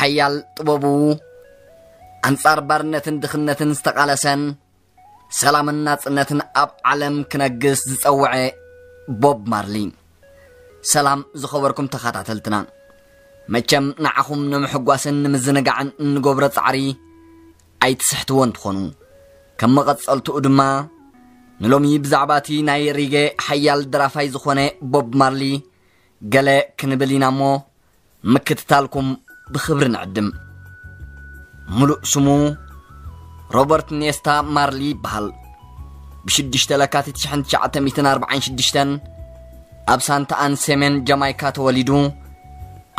ሓያል ጥበቡ ኣንጻር ባርነትን ድኽነትን ዝተቓለሰን ሰላምን ናጽነትን ኣብ ዓለም ክነግስ ዝጸውዐ ቦብ ማርሊ። ሰላም ዝኸበርኩም ተኸታተልትና፣ መቸም ንዓኹም ንምሕጓስን ንምዝንጋዕን እንገብሮ ጻዕሪ ኣይትስሕትዎን ትኾኑ። ከም መቐጸልትኡ ድማ ንሎሚ ብዛዕባ እቲ ናይ ሪጌ ሓያል ደራፋይ ዝኾነ ቦብ ማርሊ ገለ ክንብል ኢና እሞ ምክትታልኩም ብኽብሪ ንዕድም። ሙሉእ ስሙ ሮበርት ኔስታ ማርሊ ይበሃል። ብ6 ለካቲት ሽሕን ትሽዓተ ሚእትን ኣርባዓን ሽዱሽተን ኣብ ሳንታ ኣን ሰሜን ጃማይካ ተወሊዱ።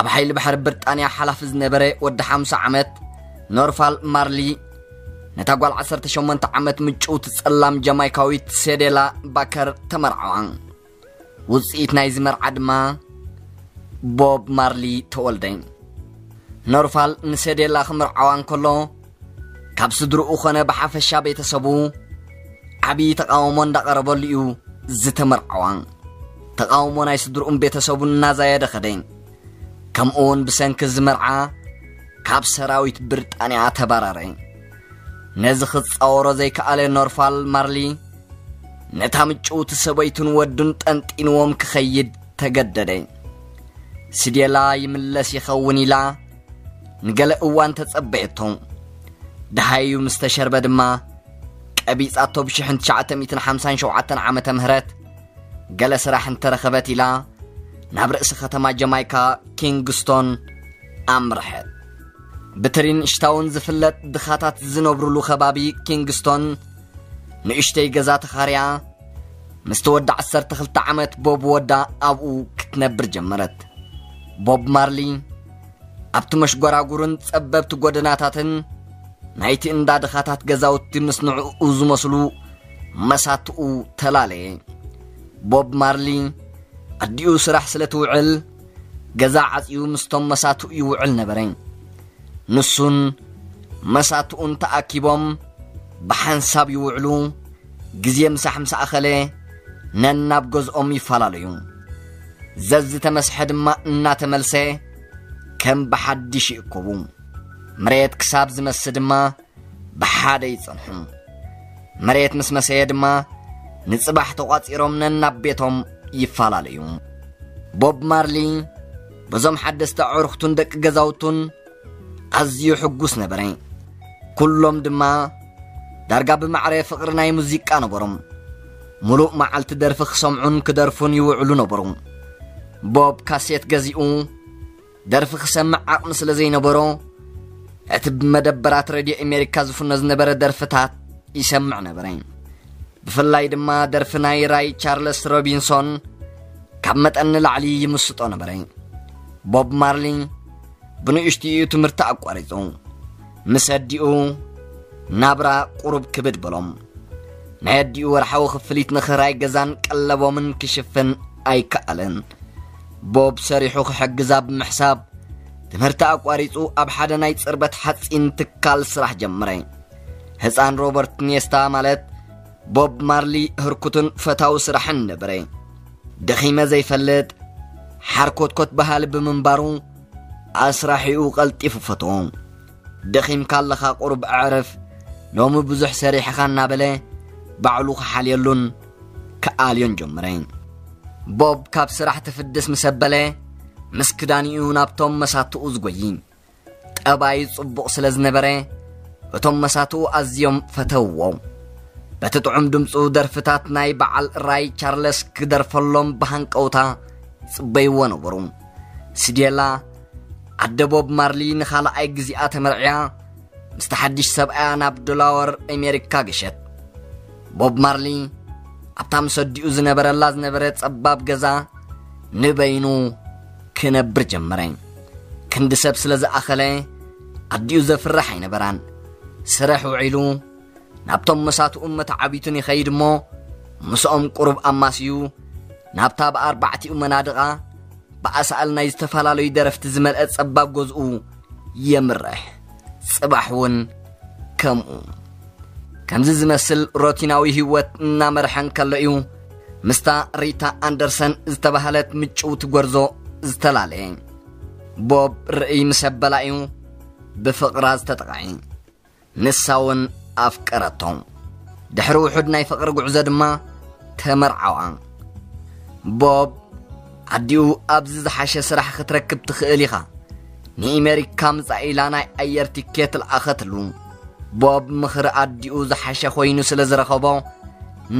ኣብ ሓይሊ ባሕሪ ብሪጣንያ ሓላፊ ዝነበረ ወዲ ሓምሳ ዓመት ኖርፋል ማርሊ ነታ ጓል ዓሰርተ ሸሞንተ ዓመት ምጭውቲ ጸላም ጃማይካዊት ሴዴላ ባከር ተመርዓዋ። ውጽኢት ናይዚ መርዓ ድማ ቦብ ማርሊ ተወልደ። ኖርፋል ንሴዴላ ክምርዓዋ እንከሎ ካብ ስድርኡ ኾነ ብሓፈሻ ቤተሰቡ ዓቢ ተቓውሞ እንዳቐረበሉ እዩ ዝተመርዓዋ። ተቓውሞ ናይ ስድርኡን ቤተሰቡን እናዛየደ ኸደ። ከምኡ እውን ብሰንኪ እዚ መርዓ ካብ ሰራዊት ብሪጣንያ ተባረረ። ነዚ ክጻወሮ ዘይከኣለ ኖርፋል ማርሊ ነታ ምጭውቲ ሰበይቱን ወዱን ጠንጢንዎም ክኸይድ ተገደደ። ስዴላ ይምለስ ይኸውን ኢላ ንገለ እዋን ተጸበየቶ። ደሃዩ ምስ ተሸርበ ድማ ቀቢጻቶ። ብ1957 ዓመተ ምህረት ገለ ስራሕ እንተረኸበት ኢላ ናብ ርእሲ ከተማ ጀማይካ ኪንግስቶን ኣምርሐት። ብትሪንሽታውን ዝፍለጥ ድኻታት ዝነብሩሉ ከባቢ ኪንግስቶን ንእሽተይ ገዛ ተኻርያ ምስ ተወዳ ዓሰርተ ክልተ ዓመት ቦብ ወዳ ኣብኡ ክትነብር ጀመረት። ቦብ ማርሊ ኣብቲ መሽጎራጉርን ጸበብቲ ጎደናታትን ናይቲ እንዳ ድኻታት ገዛውቲ ምስ ንዕኡ ዝመስሉ መሳትኡ ተላለየ። ቦብ ማርሊ ኣዲኡ ስራሕ ስለ ትውዕል ገዛ ዓጽዩ ምስቶም መሳትኡ ይውዕል ነበረ። ንሱን መሳትኡን ተኣኪቦም ብሓንሳብ ይውዕሉ። ግዜ ምሳሕ ምስ ኣኸለ ነናብ ገዝኦም ይፈላለዩ። ዘዝተመስሐ ድማ እናተመልሰ ከም ብሓድሽ ይእከቡ። መሬት ክሳብ ዝመስ ድማ ብሓደ ይጸንሑ። መሬት ምስ መሰየ ድማ ንጽባሕ ተቋጺሮም ነናብ ቤቶም ይፈላለዩ። ቦብ ማርሊ በዞም ሓደስቲ ኣዕሩኽቱን ደቂ ገዛውቱን ኣዝዩ ሕጉስ ነበረ። ኩሎም ድማ ዳርጋ ብማዕረ ፍቕሪ ናይ ሙዚቃ ነበሮም። ሙሉእ መዓልቲ ደርፊ ክሰምዑን ክደርፉን ይውዕሉ ነበሩ። ቦብ ካሴት ገዚኡ ደርፊ ክሰምዕ ዓቕሚ ስለ ዘይነበሮ፣ እቲ ብመደበራት ሬድዮ ኣሜሪካ ዝፍኖ ዝነበረ ደርፍታት ይሰምዕ ነበረ። ብፍላይ ድማ ደርፊ ናይ ራይ ቻርለስ ሮቢንሶን ካብ መጠን ንላዕሊ ይምስጦ ነበረ። ቦብ ማርሊ ብንእሽትኡ ትምህርቲ ኣቋሪጹ። ምስ ኣዲኡ ናብራ ቁሩብ ክብድ በሎም። ናይ ኣዲኡ ወርሓዊ ክፍሊት ንኽራይ ገዛን ቀለቦምን ክሽፍን ኣይከኣለን። ቦብ ሰሪሑ ክሕግዛ ብምሕሳብ ትምህርቲ ኣቋሪጹ ኣብ ሓደ ናይ ጽርበት ሓጺን ትካል ስራሕ ጀመረ። ህፃን ሮበርት ኔስታ ማለት ቦብ ማርሊ ህርኩትን ፈታዊ ስራሕን ነበረ። ደኺመ ዘይፈልጥ ሓርኮትኮት በሃሊ ብምንባሩ ኣስራሒኡ ቀልጢፉ ፈትዎ። ደኺምካ ኣለኻ ቁሩብ ኣዕርፍ፣ ሎሚ ብዙሕ ሰሪሕኻ እናበለ ባዕሉ ክሓልየሉን ክኣልዮን ጀመረ። ቦብ ካብ ስራሕ ትፍድስ ምስ ኣበለ ምስ ክዳኒኡ ናብቶም መሳትኡ ዝጎይ። ጠባዩ ጽቡቕ ስለ ዝነበረ እቶም መሳትኡ ኣዝዮም ፈተውዎ። በቲ ጥዑም ድምፁ ደርፍታት ናይ በዓል ራይ ቻርለስ ክደርፈሎም ብሃንቀውታ ይጽበይዎ ነበሩ። ስዴላ ኣደ ቦብ ማርሊ ንኻልኣይ ግዜኣ ተመርዕያ ምስቲ ሓድሽ ሰብኣያ ናብ ዶላወር ኣሜሪካ ገሸት። ቦብ ማርሊ ኣብታ ምስ ኣዲኡ ዝነበረላ ዝነበረ ጸባብ ገዛ ንበይኑ ክነብር ጀመረ። ክንዲ ሰብ ስለ ዝኣኸለ ኣዲኡ ዘፍርሕ ኣይነበራን። ስራሕ ውዒሉ ናብቶም መሳትኡን መተዓቢቱን ይኸይድ እሞ ምስኦም ቁሩብ ኣማስዩ ናብታ ብኣርባዕቲኡ መናድቓ ብኣሳእል ናይ ዝተፈላለዩ ደረፍቲ ዝመልአ ጸባብ ገዝኡ የምርሕ። ጽባሕ እውን ከምኡ። ከምዚ ዝመስል ሮቲናዊ ህይወት እናመርሐ እንከሎ እዩ ምስታ ሪታ ኣንደርሰን ዝተባህለት ምጭውቲ ጎርዞ ዝተላለየ። ቦብ ርእይ ምስ ኣበላ እዩ ብፍቕራ ዝተጠቕዐ። ንሳ እውን ኣፍቀረቶ። ድሕሪ ውሑድ ናይ ፍቕሪ ጉዕዞ ድማ ተመርዓዋ። ቦብ ኣዲኡ ኣብዚ ዝሓሸ ስራሕ ክትረክብ ትኽእል ኢኻ፣ ንእሜሪካ ምጻእ ኢላ ናይ ኣየር ቲኬት ለኣኸትሉ። ቦብ ምኽሪ ኣዲኡ ዝሓሸ ኮይኑ ስለ ዝረኸቦ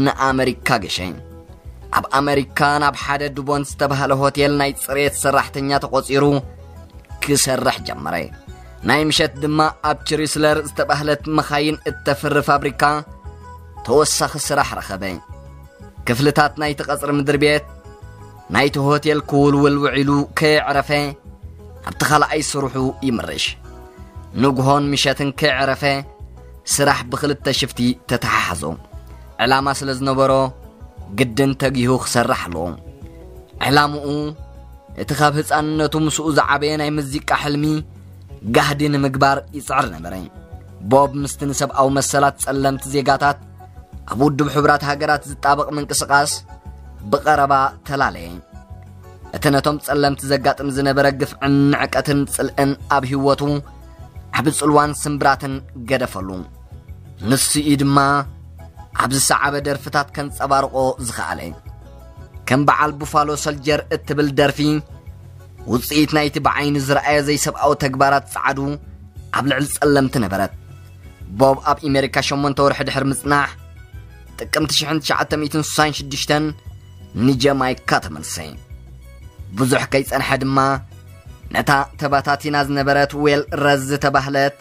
ንኣመሪካ ገሸ። ኣብ ኣመሪካ ናብ ሓደ ዱቦንት ዝተባህለ ሆቴል ናይ ጽሬት ሰራሕተኛ ተቖጺሩ ክሰርሕ ጀመረ። ናይ ምሸት ድማ ኣብ ችሪስለር ዝተባህለት መኻይን እተፍሪ ፋብሪካ ተወሳኺ ስራሕ ረኸበ። ክፍልታት ናይቲ ቀጽሪ ምድሪ ቤት ናይቲ ሆቴል ክውልውል ውዒሉ ከየዕረፈ ኣብቲ ካልኣይ ስርሑ ይምርሽ። ንግሆን ምሸትን ከየዕረፈ ስራሕ ብኽልተ ሽፍቲ ተተሓሓዞ። ዕላማ ስለ ዝነበሮ ግድን ተጊሁ ክሰርሕ ኣለዎ። ዕላምኡ እቲ ካብ ህፃንነቱ ምስኡ ዝዓበየ ናይ ሙዚቃ ሕልሚ ጋህዲ ንምግባር ይፅዕር ነበረ። ቦብ ምስቲ ንሰብኣዊ መሰላት ጸለምቲ ዜጋታት ኣብ ውድብ ሕቡራት ሃገራት ዝጣበቕ ምንቅስቓስ ብቐረባ ተላለየ። እቲ ነቶም ጸለምቲ ዘጋጥም ዝነበረ ግፍዕን ንዕቀትን ጽልእን ኣብ ህይወቱ ዓቢ ጽልዋን ስምብራትን ገደፈሉ። ንሱ እዩ ድማ ኣብ ዝሰዓበ ደርፍታት ከንጸባርቆ ዝኸኣለ። ከም በዓል ቡፋሎ ሶልጀር እትብል ደርፊ፣ ውጽኢት ናይቲ ብዓይኒ ዝረኣየ ዘይሰብኣዊ ተግባራት ጸዓዱ ኣብ ልዕሊ ጸለምቲ ነበረት። ቦብ ኣብ ኣሜሪካ ሸሞንተ ወርሒ ድሕሪ ምጽናሕ፣ ጥቅምቲ ሽሕን ትሽዓተ ሚእትን ስሳን ሽዱሽተን ንጀማይካ ተመልሰ። ብዙሕ ከይጸንሐ ድማ፣ ነታ ተባታቲና ዝነበረት ዌል ረዝ ዝተባህለት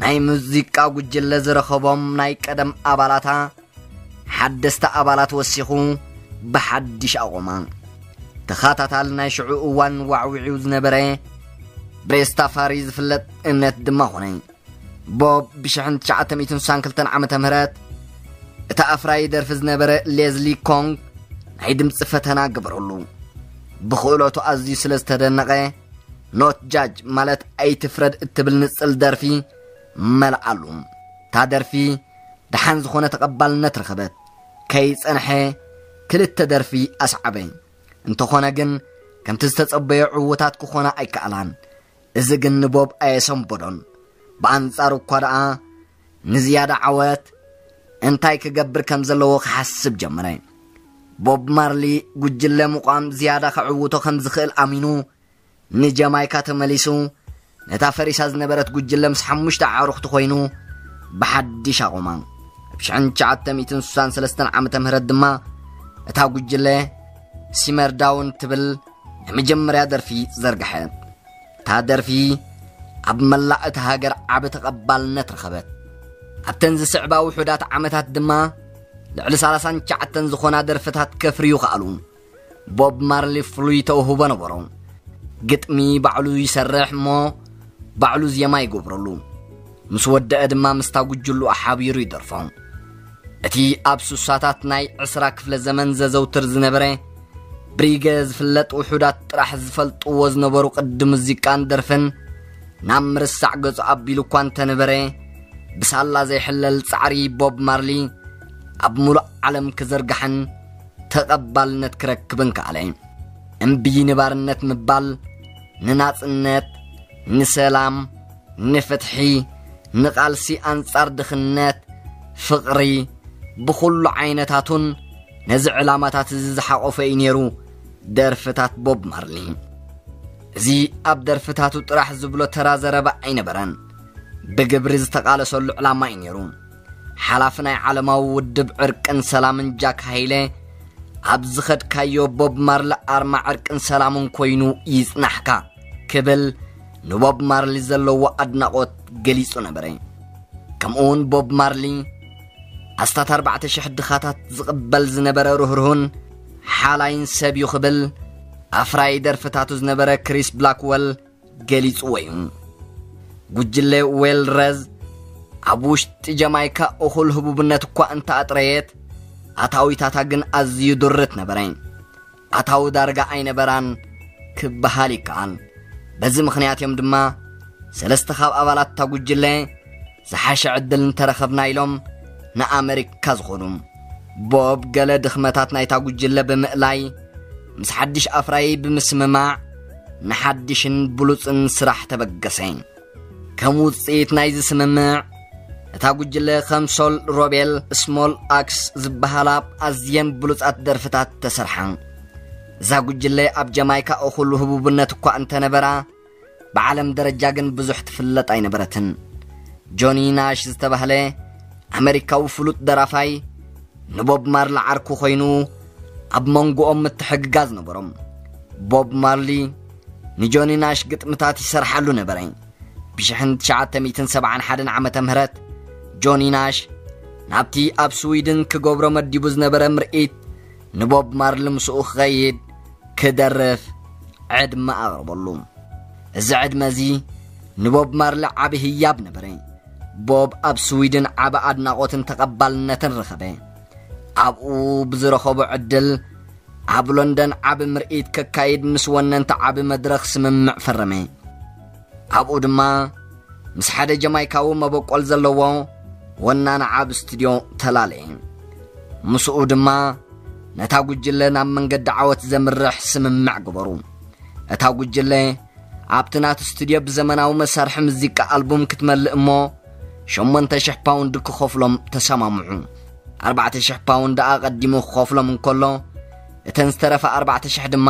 ናይ ሙዚቃ ጉጅለ ዝረኸቦም ናይ ቀደም ኣባላታ ሓደስቲ ኣባላት ወሲኹ ብሓድሽ ኣቖማ። ተኻታታሊ ናይ ሽዑ እዋን ዋዕዊዕዩ ዝነበረ ብሬስታፋሪ ዝፍለጥ እምነት ድማ ኾነ። ቦብ ብሽሕን ትሽዓተ ሚእትን ስሳን ክልተን ዓመተ ምህረት እቲ ኣፍራዪ ደርፊ ዝነበረ ሌዝሊ ኮንግ ናይ ድምፂ ፈተና ገበረሉ። ብኽእለቱ ኣዝዩ ስለ ዝተደነቐ፣ ኖት ጃጅ ማለት ኣይትፍረድ እትብል ንጽል ደርፊ መልኣሉ። እታ ደርፊ ደሓን ዝኾነ ተቐባልነት ረኸበት። ከይጸንሐ ክልተ ደርፊ ኣስዓበ። እንተኾነ ግን ከምቲ ዝተጸበዮ ዕዉታት ክኾና ኣይከኣላን። እዚ ግን ንቦብ ኣየሰንበዶን። ብኣንጻሩ እኳ ደኣ ንዝያዳ ዓወት እንታይ ክገብር ከም ዘለዎ ክሓስብ ጀመረ። ቦብ ማርሊ ጉጅለ ምቋም ዝያዳ ከዕውቶ ከም ዝኽእል ኣሚኑ ንጀማይካ ተመሊሱ ነታ ፈሪሳ ዝነበረት ጉጅለ ምስ ሓሙሽተ ኣዕሩኽቲ ኮይኑ ብሓድሽ ኣቑማ። ኣብ ሽሕን ትሽዓተ ሚእትን ስሳን ሰለስተን ዓመተ ምህረት ድማ እታ ጉጅለ ሲመር ዳውን ትብል ናይ መጀመርያ ደርፊ ዘርግሐት። እታ ደርፊ ኣብ መላእ እታ ሃገር ዓቢ ተቐባልነት ረኸበት። ኣብተን ዝስዕባ ውሑዳት ዓመታት ድማ ልዕሊ ሰላሳን ትሽዓተን ዝኾና ደርፍታት ከፍርዩ ከኣሉ። ቦብ ማርሊ ፍሉይ ተውህቦ ነበሮ። ግጥሚ ባዕሉ ይሰርሕ እሞ ባዕሉ ዜማ ይገብረሉ። ምስ ወደአ ድማ ምስታ ጉጅሉ ሓቢሩ ይደርፎ። እቲ ኣብ ሱሳታት ናይ ዕስራ ክፍለ ዘመን ዘዘውትር ዝነበረ ብሪገ ዝፍለጥ ውሑዳት ጥራሕ ዝፈልጥዎ ዝነበሩ ቅዲ ሙዚቃን ደርፍን ናብ ምርሳዕ ገጹ ኣቢሉ እኳ እንተነበረ፣ ብሳላ ዘይሕለል ጻዕሪ ቦብ ማርሊ ኣብ ሙሉእ ዓለም ክዝርጋሕን ተቐባልነት ክረክብን ከኣለ። እምቢ ንባርነት ምባል፣ ንናጽነት፣ ንሰላም፣ ንፍትሒ፣ ንቓልሲ ኣንጻር ድኽነት፣ ፍቕሪ፣ ብኹሉ ዓይነታቱን ነዚ ዕላማታት እዚ ዝሓቖፈ እዩ ነይሩ ደርፍታት ቦብ ማርሊ። እዚ ኣብ ደርፍታቱ ጥራሕ ዝብሎ ተራ ዘረባ ኣይነበረን። ብግብሪ ዝተቓለሰሉ ዕላማ እዩ ነይሩ። ሓላፊ ናይ ዓለማዊ ውድብ ዕርቅን ሰላምን ጃክ ሃይለ፣ ኣብ ዝኸድካዮ ቦብ ማርሊ ኣርማ ዕርቅን ሰላምን ኮይኑ ይጽናሕካ ክብል ንቦብ ማርሊ ዘለዎ ኣድናቖት ገሊጹ ነበረ። ከምኡውን ቦብ ማርሊ ኣስታት ኣርባዕተ ሽሕ ድኻታት ዝቕበል ዝነበረ ርህርሁን ሓላይን ሰብ እዩ ክብል ኣፍራዪ ደርፍታቱ ዝነበረ ክሪስ ብላክወል ገሊጽዎ እዩ። ጉጅለ ዌል ረዝ ኣብ ውሽጢ ጀማይካ እኹል ህቡብነት እኳ እንተኣጥረየት፣ ኣታዊታታ ግን ኣዝዩ ድርት ነበረ። ኣታዊ ዳርጋ ኣይነበራን ክበሃል ይከኣል። በዚ ምኽንያት እዮም ድማ ሰለስተ ካብ ኣባላት እታ ጉጅለ ዝሓሸ ዕድል እንተረኸብና ኢሎም ንኣመሪካ ዝኾኑ። ቦብ ገለ ድኽመታት ናይታ ጉጅለ ብምእላይ ምስ ሓድሽ ኣፍራዪ ብምስምማዕ ንሓድሽን ብሉጽን ስራሕ ተበገሰ። ከም ውጽኢት ናይዚ ስምምዕ፣ እታ ጉጅለ ከም ሶል ሮቤል፣ ስሞል ኣክስ ዝበሃላ ኣዝየን ብሉጻት ደርፍታት ተሰርሓ። እዛ ጉጅለ ኣብ ጀማይካ እኹል ህቡብነት እኳ እንተነበራ፣ ብዓለም ደረጃ ግን ብዙሕ ትፍለጥ ኣይነበረትን። ጆኒ ናሽ ዝተባህለ ኣመሪካዊ ፍሉጥ ደራፋይ ንቦብ ማርሊ ዓርኩ ኮይኑ፣ ኣብ መንጎኦም ምትሕግጋዝ ነበሮም። ቦብ ማርሊ ንጆኒ ናሽ ግጥምታት ይሰርሓሉ ነበረ። ብ1971 ዓመተ ምህረት ጆኒ ናሽ ናብቲ ኣብ ስዊድን ክገብሮ መዲቡ ዝነበረ ምርኢት ንቦብ ማርሊ ምስኡ ክኸይድ ክደርፍ ዕድመ ኣቕርበሉ። እዚ ዕድመ እዚ ንቦብ ማርሊ ዓቢ ህያብ ነበረ። ቦብ ኣብ ስዊድን ዓቢ ኣድናቖትን ተቐባልነትን ረኸበ። ኣብኡ ብዝረኸቦ ዕድል ኣብ ሎንደን ዓቢ ምርኢት ከካይድ ምስ ወነንቲ ዓቢ መድረኽ ስምምዕ ፈረመ። ኣብኡ ድማ ምስ ሓደ ጀማይካዊ መበቆል ዘለዎ ወናኒ ዓቢ ስቱድዮ ተላለየ። ምስኡ ድማ ነታ ጉጅለ ናብ መንገዲ ዓወት ዘምርሕ ስምምዕ ገበሩ። እታ ጉጅለ ኣብቲ ናቱ ስቱድዮ ብዘመናዊ መሳርሒ ሙዚቃ ኣልቡም ክትመልእ እሞ 8,000 ፓውንድ ክኸፍሎም ተሰማምዑ። 4,000 ፓውንድ ኣቐዲሙ ክኸፍሎም እንከሎ፣ እተን ዝተረፋ 4,000 ድማ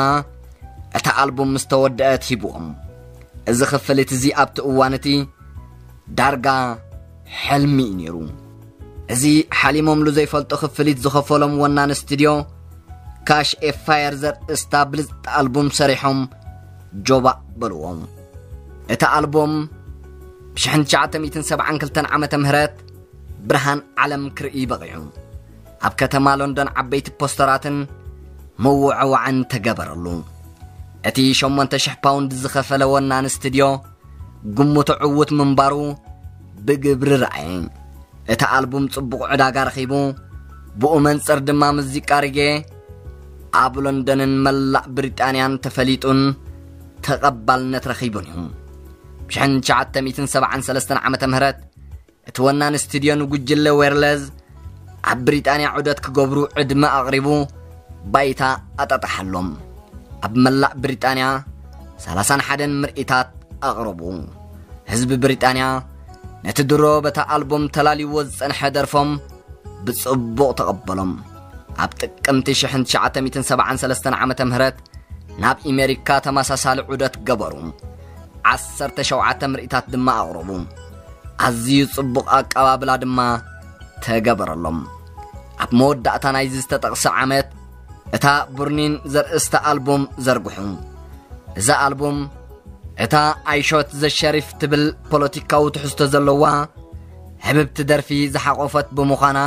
እታ ኣልቡም ምስ ተወደአት ሂብዎም። እዚ ክፍሊት እዚ ኣብቲ እዋን እቲ ዳርጋ ሕልሚ እዩ ነይሩ። እዚ ሓሊሞምሉ ዘይፈልጡ ክፍሊት ዝኸፈሎም ወናኒ ስቱድዮ፣ ካሽ ኤ ፋየር ዘርእስታ ብልጽቲ ኣልቡም ሰሪሖም ጆባእ በልዎም። እቲ ኣልቡም ብ1972 ዓመተ ምህረት ብርሃን ዓለም ክርኢ በቒዑ። ኣብ ከተማ ሎንዶን ዓበይቲ ፖስተራትን ምውዕዋዕን ተገበረሉ። እቲ 8,000 ፓውንድ ዝኸፈለ ወናኒ ስቱድዮ ግምቱ ዕዉት ምንባሩ ብግብሪ ረኣየ። እቲ ኣልቡም ጽቡቕ ዕዳጋ ረኺቡ፣ ብኡ መንጽር ድማ ሙዚቃ ሪጌ ኣብ ሎንደንን መላእ ብሪጣንያን ተፈሊጡን ተቐባልነት ረኺቡን እዩ። ብ1973 ዓመተ ምህረት እቲ ወናኒ ስቱድዮ ንጉጅለ ዌርለዝ ኣብ ብሪጣንያ ዑደት ክገብሩ ዕድመ ኣቕሪቡ ባይታ ኣጣጣሓሎም። ኣብ መላእ ብሪጣንያ 31 ምርኢታት ኣቕረቡ። ህዝቢ ብሪጣንያ ነቲ ድሮ በታ ኣልቡም ተላልይዎ ዝጸንሐ ደርፎም ብጽቡቕ ተቐበሎም። ኣብ ጥቅምቲ 1973 ዓመተ ምህረት ናብ ኣሜሪካ ተመሳሳሊ ዑደት ገበሩ። 17 ምርኢታት ድማ ኣቕረቡ። ኣዝዩ ጽቡቕ ኣቀባብላ ድማ ተገበረሎም። ኣብ መወዳእታ ናይዚ ዝተጠቕሰ ዓመት እታ ቡርኒን ዘርእስታ ኣልቡም ዘርግሑ። እዛ ኣልቡም እታ ኣይሾት ዘሸሪፍ ትብል ፖለቲካዊ ትሕዝቶ ዘለዋ ህብብቲ ደርፊ ዝሓቖፈት ብምዃና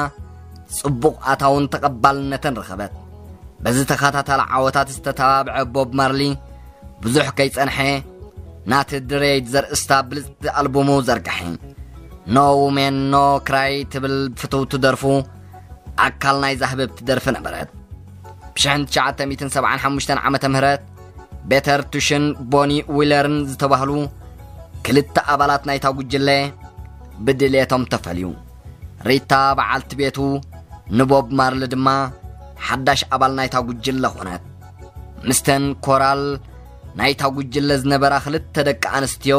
ጽቡቕ ኣታውን ተቐባልነትን ረኸበት። በዚ ተኸታታሊ ዓወታት ዝተተባብዐ ቦብ ማርሊ ብዙሕ ከይጸንሐ ናቲ ድሬድ ዘርእስታ ብልጽቲ ኣልቡሙ ዘርግሐ። ኖ ውሜን ኖ ክራይ ትብል ፍትውቲ ደርፉ ኣካል ናይዛ ህብብቲ ደርፊ ነበረት። ብ1975 ዓመተ ምህረት ቤተር ቱሽን ቦኒ ዊለርን ዝተባህሉ ክልተ ኣባላት ናይታ ጉጅለ ብድሌቶም ተፈልዩ። ሪታ በዓልቲ ቤቱ ንቦብ ማርሊ ድማ ሓዳሽ ኣባል ናይታ ጉጅለ ኾነት። ምስተን ኮራል ናይታ ጉጅለ ዝነበራ ክልተ ደቂ ኣንስትዮ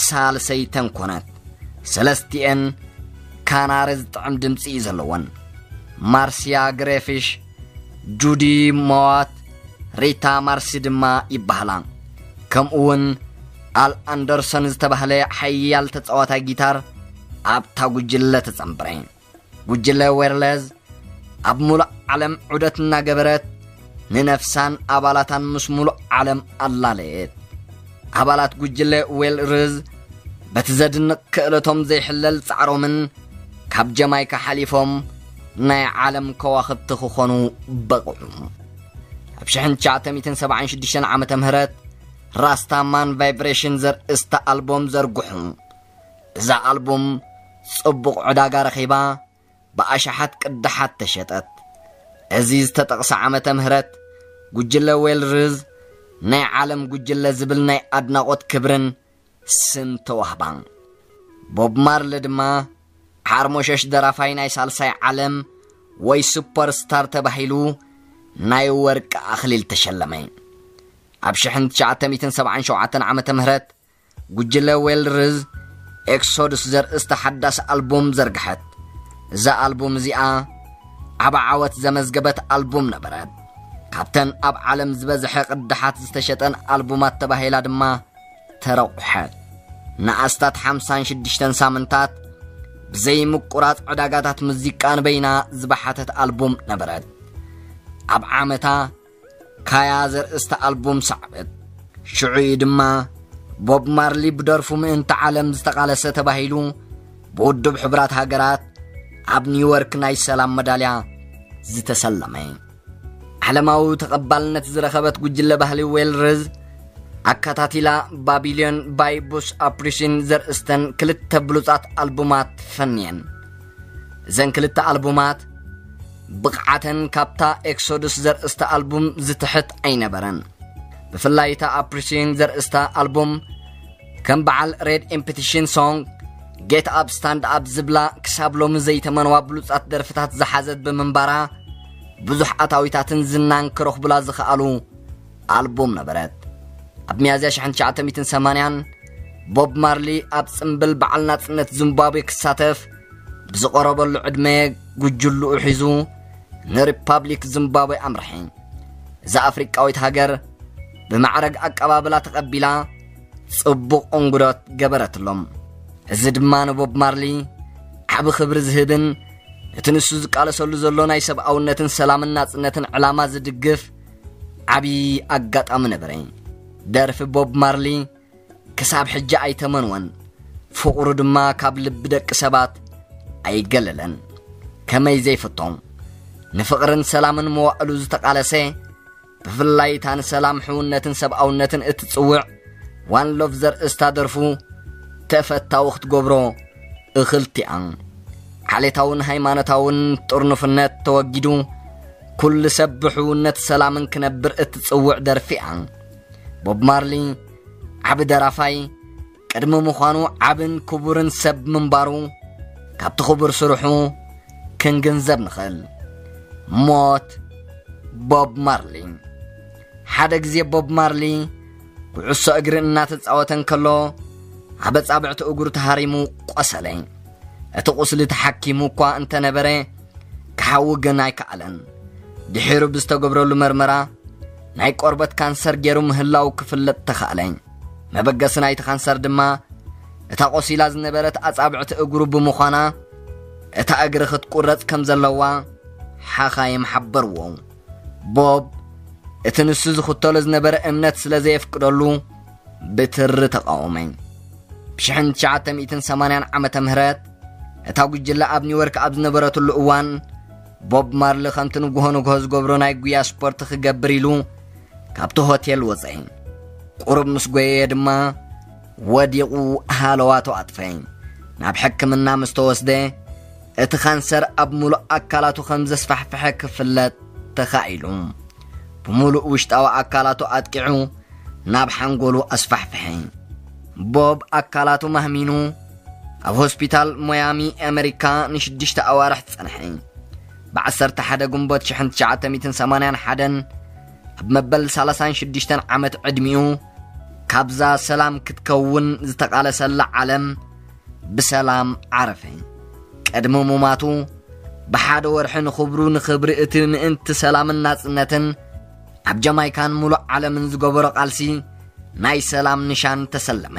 ሳልሰይተን ኮነት። ሰለስቲኤን ካናሪ ዝጥዕም ድምጺ እዩ ዘለወን። ማርሲያ ግሬፊሽ፣ ጁዲ ሞዋት፣ ሪታ ማርሲ ድማ ይበሃላ። ከምኡ እውን ኣል ኣንደርሰን ዝተባህለ ሓያል ተጻዋታይ ጊታር ኣብታ ጉጅለ ተጸንብረ። ጉጅለ ዌርለዝ ኣብ ሙሉእ ዓለም ዑደት እናገበረት ንነፍሳን ኣባላታን ምስ ሙሉእ ዓለም ኣላለየት። ኣባላት ጉጅለ ዌልርዝ በቲ ዘድንቕ ክእለቶም ዘይሕለል ጻዕሮምን ካብ ጀማይካ ሓሊፎም ናይ ዓለም ከዋኽብቲ ክኾኑ በቕዑ። ኣብ 1976 ዓመተ ምህረት ራስታማን ቫይብሬሽን ዘርእስታ ኣልቦም ዘርግሑ። እዛ ኣልቡም ጽቡቕ ዕዳጋ ረኺባ ብኣሽሓት ቅዳሓት ተሸጠት። እዚ ዝተጠቕሰ ዓመተ ምህረት ጉጅለ ዌልርዝ ናይ ዓለም ጉጅለ ዝብል ናይ ኣድናቖት ክብርን ስም ተዋህባ። ቦብ ማርሊ ድማ ሓርሞሸሽ ደራፋይ ናይ ሳልሳይ ዓለም ወይ ሱፐርስታር ተባሂሉ ናይ ወርቂ ኣኽሊል ተሸለመ። ኣብ 1977 ዓመተ ምህረት ጉጅለ ዌልርዝ ኤክሶዱስ ዘርእስታ ሓዳስ ኣልቡም ዘርግሐት። እዛ ኣልቡም እዚኣ ዓቢ ዓወት ዘመዝገበት ኣልቡም ነበረት። ካብተን ኣብ ዓለም ዝበዝሐ ቅዳሓት ዝተሸጠን ኣልቡማት ተባሂላ ድማ ተረቑሐት። ንኣስታት ሓምሳን ሽዱሽተን ሳምንታት ብዘይ ምቁራጽ ዕዳጋታት ሙዚቃ ንበይና ዝበሓተት ኣልቡም ነበረት። ኣብ ዓመታ ካያ ዘርእስታ ኣልቡም ሰዓበት። ሽዑ እዩ ድማ ቦብ ማርሊ ብደርፉ ምእንቲ ዓለም ዝተቓለሰ ተባሂሉ ብውድብ ሕቡራት ሃገራት ኣብ ኒውዮርክ ናይ ሰላም መዳልያ ዝተሰለመ። ዓለማዊ ተቐባልነት ዝረኸበት ጉጅለ ባህሊ ዌልርዝ ኣከታቲላ ባቢልዮን ባይ ቡስ ኣፕሪሽን ዘርእስተን ክልተ ብሉጻት ኣልቡማት ፈንየን። እዘን ክልተ ኣልቡማት ብቕዓተን ካብታ ኤክሶዱስ ዘርእስታ ኣልቡም ዝትሕት ኣይነበረን። ብፍላይ እታ ኣፕሪሽን ዘርእስታ ኣልቡም ከም በዓል ሬድ ኢምፕቲሽን ሶንግ፣ ጌት ኣፕ ስታንድ ኣፕ ዝብላ ክሳብ ሎሚ ዘይተመንዋ ብሉጻት ደርፍታት ዝሓዘት ብምንባራ ብዙሕ ኣታዊታትን ዝናን ክረኽቡላ ዝኸኣሉ ኣልቡም ነበረት። ኣብ ሚያዝያ ሽሕን ትሽዓተ ሚእትን ሰማንያን ቦብ ማርሊ ኣብ ጽምብል በዓል ናጽነት ዚምባብዌ ክሳተፍ ብዝቐረበሉ ዕድመ ጉጅልኡ ሒዙ ንሪፓብሊክ ዚምባብዌ ኣምርሐ። እዛ ኣፍሪቃዊት ሃገር ብማዕረግ ኣቀባብላ ተቐቢላ ጽቡቕ እንግዶት ገበረትሎም። እዚ ድማ ንቦብ ማርሊ ዓቢ ክብሪ ዝህብን እቲ ንሱ ዝቃለሰሉ ዘሎ ናይ ሰብኣውነትን ሰላምን ናጽነትን ዕላማ ዝድግፍ ዓቢ ኣጋጣሚ ነበረ። ደርፊ ቦብ ማርሊ ክሳብ ሕጂ ኣይተመንወን። ፍቕሩ ድማ ካብ ልቢ ደቂ ሰባት ኣይገለለን። ከመይ ዘይፍቶም? ንፍቕርን ሰላምን መዋእሉ ዝተቓለሰ፣ ብፍላይ እታ ንሰላም፣ ሕውነትን ሰብኣውነትን እትጽውዕ ዋን ሎቭ ዘርእስታ ደርፉ ተፈታዊ ክትገብሮ እኽልቲኣ። ዓሌታውን ሃይማኖታውን ጥርኑፍነት ተወጊዱ፣ ኩሉ ሰብ ብሕውነት ሰላምን ክነብር እትጽውዕ ደርፊኣ። ቦብ ማርሊ ዓቢ ደራፋይ ቅድሚ ምዃኑ ዓብን ክቡርን ሰብ ምንባሩ ካብቲ ክቡር ስርሑ ክንግንዘብ ንኽእል። ሞት ቦብ ማርሊ። ሓደ ግዜ ቦብ ማርሊ ኩዕሶ እግሪ እናተጻወተ እንከሎ ኣብ ኣጻብዕቲ እግሩ ተሃሪሙ ቆሰለ። እቲ ቁስሊ ተሓኪሙ እኳ እንተነበረ ክሓዊ ግን ኣይከኣለን። ድሒሩ ብዝተገብረሉ መርመራ ናይ ቆርበት ካንሰር ገይሩ ምህላው ክፍለጥ ተኻእለ። መበገሲ ናይቲ ካንሰር ድማ እታ ቆሲላ ዝነበረት ኣጻብዕቲ እግሩ ብምዃና እታ እግሪ ክትቁረጽ ከም ዘለዋ ሓኻይም ሓበርዎ። ቦብ እቲ ንሱ ዝኽተሎ ዝነበረ እምነት ስለ ዘየፍቅደሉ ብትሪ ተቓወመ። ብ1980 ዓመተ ምህረት እታ ጉጅለ ኣብ ኒውዮርክ ኣብ ዝነበረትሉ እዋን ቦብ ማርሊ ከምቲ ንግሆ ንግሆ ዝገብሮ ናይ ጉያ ስፖርት ክገብር ኢሉ ካብቲ ሆቴል ወጸ። ቁሩብ ምስ ጎየየ ድማ ወዲቑ ሃለዋቱ ኣጥፈ። ናብ ሕክምና ምስ ተወስደ እቲ ካንሰር ኣብ ሙሉእ ኣካላቱ ከም ዘስፋሕፈሐ ክፍለጥ ተኻኢሉ። ብምሉእ ውሽጣዊ ኣካላቱ ኣጥቂዑ ናብ ሓንጎሉ ኣስፋሕፈሐ። ቦብ ኣካላቱ ማህሚኑ ኣብ ሆስፒታል ሞያሚ ኣመሪካ ንሽዱሽተ ኣዋርሕ ጸንሐ። ብ11 ግንቦት ሽሕን ትሽዓተ ሚእትን ሰማንያን ሓደን ኣብ መበል ሰላሳን ሽዱሽተን ዓመት ዕድሚኡ ካብዛ ሰላም ክትከውን ዝተቓለሰላ ዓለም ብሰላም ዓረፈ። ቅድሚ ሙማቱ ብሓደ ወርሒ ንኽብሩ ንኽብሪ እቲ ምእንቲ ሰላምን ናጽነትን ኣብ ጀማይካን ሙሉእ ዓለምን ዝገበሮ ቃልሲ ናይ ሰላም ንሻን ተሰለመ።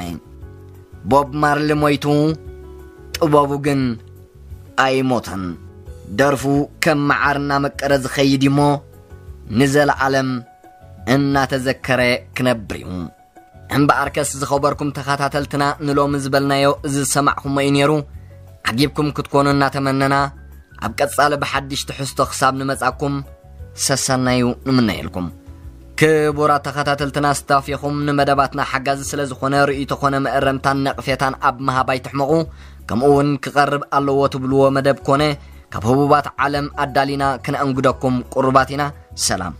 ቦብ ማርሊ ሞይቱ፣ ጥበቡ ግን ኣይሞተን። ደርፉ ከም መዓር እናመቀረ ዝኸይድ እሞ ንዘለዓለም እናተዘከረ ክነብር እዩ። እምበኣርከስ ዝኸበርኩም ተኸታተልትና ንሎሚ ዝበልናዮ እዚ ዝሰማዕኹሞ እዩ ነይሩ። ዓጊብኩም ክትኮኑ እናተመነና ኣብ ቀጻሊ ብሓድሽ ትሕዝቶ ክሳብ ንመጻኩም ሰሰናዩ ንምነየልኩም። ክቡራት ተኸታተልትና ስታፍ ኢኹም ንመደባትና ሓጋዚ ስለ ዝኾነ ርእይቶ ኮነ መእረምታን ነቕፌታን ኣብ ምሃብ ኣይትሕመቑ። ከምኡ እውን ክቐርብ ኣለዎ ትብልዎ መደብ ኮነ ካብ ህቡባት ዓለም ኣዳሊና ክነእንግደኩም ቅሩባት ኢና። ሰላም።